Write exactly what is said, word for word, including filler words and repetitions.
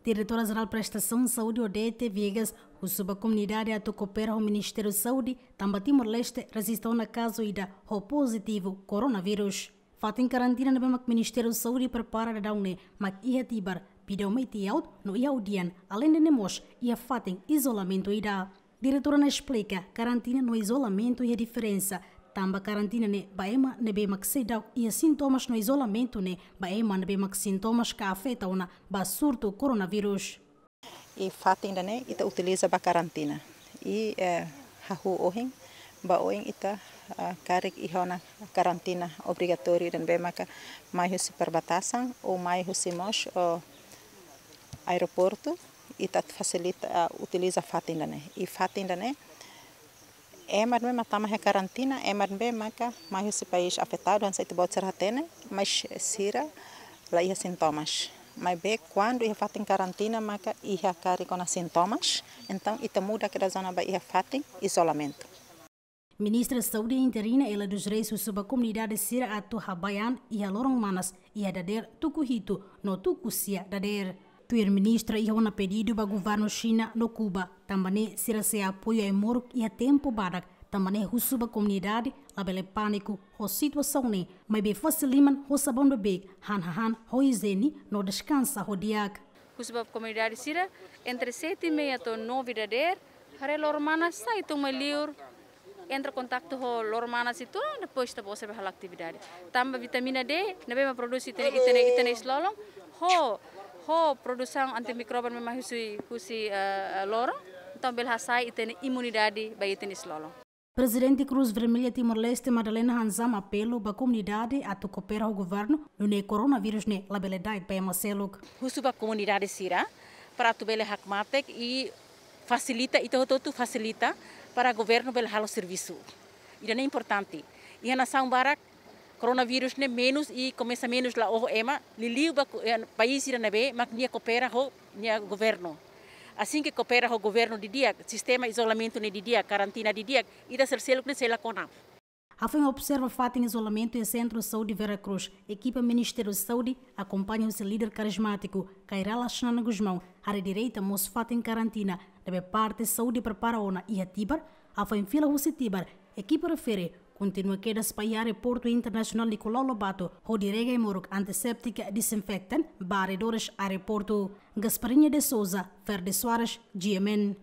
Diretora Jerál Prestasaun Saúde, Odete Viegas, husu ba komunidade atu koopera ho Ministériu Saúde, tanba Timor-Leste rejista ona kazu ida ho pozitivu koronavírus. Fatin karantina ne'ebé mak Ministériu Saúde prepara daudaun ne'e mak iha Tibar, Pidão Meitiaut, no iha Udian, aleinde ne'e mós iha fatin izolamentu ida. Diretora ne'e esplika, karantina no izolamentu iha diferensa. Tanba karantina ne'e ba ema ne'ebé mak seidauk iha sintomas, no izolamentu ne'e ba ema ne'ebé mak sintomas ka afeta ona ba surtu koronavírus. I fatin ida-ne'e ita utiliza ba karantina. I, eh, hahú ohin, ba oin ita, ah, karik iha ona karantina obrigatóriu ida ne'ebé maka mai husi perbatasan ou mai husi mós, oh, aeroportu, ita fasilita, ah, utiliza fatin ida-ne'e. I fatin ida-ne'e, ema ne'ebé mak tama iha karantina, ema ne'ebé maka mai husi país afetadu, hanesan ita-boot sira hatene, mas sira la iha sintomas. Maibé kuandu iha fatin karantina maka iha karik ona sintomas, entaun ita muda kedas ona ba iha fatin izolamentu. Ministra Saúde interina Ela dos Reis husu ba komunidade sira atu habai an iha loron manas iha dadeer tuku hitu no tuku sia dadeer. Tuir ministra, iha ona pedidu ba governu Xina no Kuba, tanba ne'e sira sei apoiu ai-moruk iha tempu badak, tanba ne'e husu ba komunidade labele pániku ho situasaun ne'e, maibé fase liman ho sabaun beibeik, han hahán ho ijiene no deskansa ho di'ak. Husu ba komunidade sira, entre sete e meia to'o nove dadeer, haree loron manas, sai tun mai liur, entra kontaktu ho loron manas uitoan, depois ita-boot sira bele halo atividade. Tanba vitamina D ne'ebé mak prodús iha ita-nia, ita-nia, ita-nia iis-lolon, ho, ho produsaun antimikróbiu ne'ebé mak husi, husi, eh, eh, loron, entaun bele hasa'e ita-nia imunidade ba ita-nia iis-lolon. Prezidente Cruz Vermelha Timor-Leste, Madalena Hanzam, apelu ba komunidade atu koopera ho governu, nune'e koronavírus ne'e labele da'et ba ema seluk. Husu ba komunidade sira, para atu bele hakmatek i fasilita, ita hotu-hotu fasilita para governu bele halo servisu. Ida-ne'e importante. Iha nasaun barak, koronavírus ne'e menus i komesa menus la oho ema, liuliu ba ku-, eh, país sira ne'ebé mak nia koopera ho nia governu. Asin ke koopera ho governu didi'ak, sistema izolamentu ne'e didi'ak, karantina didi'ak, ita sira seluk ne'e sei la kona. Hafoin observa fatin izolamentu iha Sentru Saúde Vera Cruz, ekipa Ministériu Saúde, akompaña husi líder karizmátiku Kay Rala Xanana Gusmão, haree direta mós fatin karantina ne'ebé parte saúde prepara ona iha Tibar. Hafoin fila husi Tibar, ekipa refere kontinua kedas ba iha Aeroportu Internasionál Nicolau Lobato, hodi rega ai-moruk antiséptika, disinfektan ba arredores aeroportu. Gasparinha de Souza, Fer de Soares, G M N.